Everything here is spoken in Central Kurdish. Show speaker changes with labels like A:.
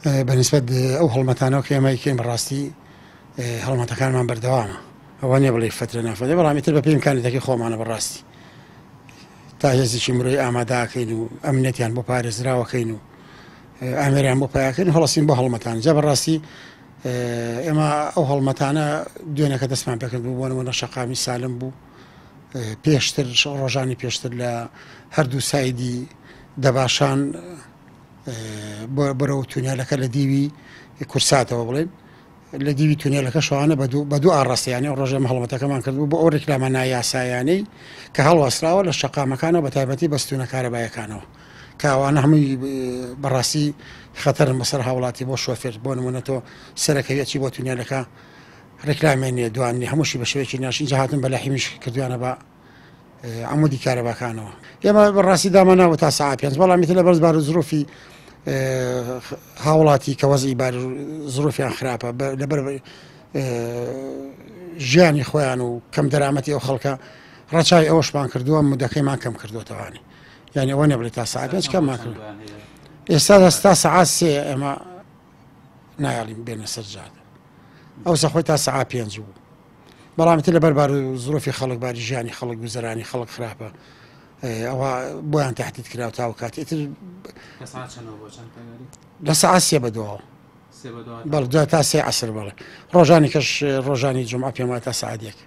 A: بە نیسبەت ئەو هەڵمەتانەوە کە ئێمە ئەیکەین بەڕاستی هەڵمەتەکانمان بەردەوامە ئەوە نیە بڵێ فترە نافەدە بەڵام ئیتر بەپێی ئیمکانیەتەکەی خۆمانە بەڕاستی تا هێزێکی مرۆی ئاماداکەین و ئەمنیەتیان بۆ پارێزراوەکەین و ئامێریان بۆ پیاکەین هەڵسین بۆ هەڵمەتان جا بەڕاستی ئێمە ئەو هەڵمەتانە دوێنەکە دەستمان پێکرد بوو بۆ نمونە شەقامی سالم بوو پێشتر ڕۆژانی پێشتر لە هەردوو سایدی دەباشان بەرەو تونێلەکە لە دیوی کورساتەوە بڵێن لە دیوی تونێلەکە شوانە بە دوو ئاڕاستەیانی ئەو ڕۆژێ هەڵمەتەکەمان کردبوو بۆ ئەو ڕیکلامە نایاسایانەی کە هەڵواسراوە لە شەقامەکانەوە بە تایبەتی بەستونە کارەبایەکانەوە کاوانە هەمووی بەڕاستی خەتەرن بەسەر هاوڵاتی بۆ شۆفێر بۆ نمونە تۆ سەرەکەوی ئەچی بۆ تونێلەکە ڕیکلامیان نییە دوان نیە هەمووشی بە شێوەیەکی ناشین جا هاتن بە لەحیمیش کردویانە بە عمودی کارەباکانەوە ئێمە بەڕاستی داماناوە تا ساعت پێنج بەڵام ئیتر لە بەرز بار و زروفی هاوڵاتی کە وەزعی بار زروفیان خراپە لەبەر ژیانی خۆیان و کەم دەرامەتی ئەو خەڵکە ڕەچاوی ئەوەشمان کردووە مدەکەیمان کەم کردوێتەوانی یعنی ئەوە نەبێت تا ساعت پێنج کەممان کرد ئێستا دەستا سەعات سێ ئێمە نایەڵین بێنە سەر جادە ئەوسا خۆی تا سەعات پێنج بوو بەڵام تر لەبەر بار و زروفی خەڵک باری ژیانی خەڵک گوزەرانی خەڵک خراپە ئەوە بۆیان تهدید کرا تا و کات ئیتر لە سەعات سێ بەدواوە بەڵ تا سێ عسر بەڵێ ڕۆژانی کەش ڕۆژانی جمعە پێم وایە تا سەعات یەک.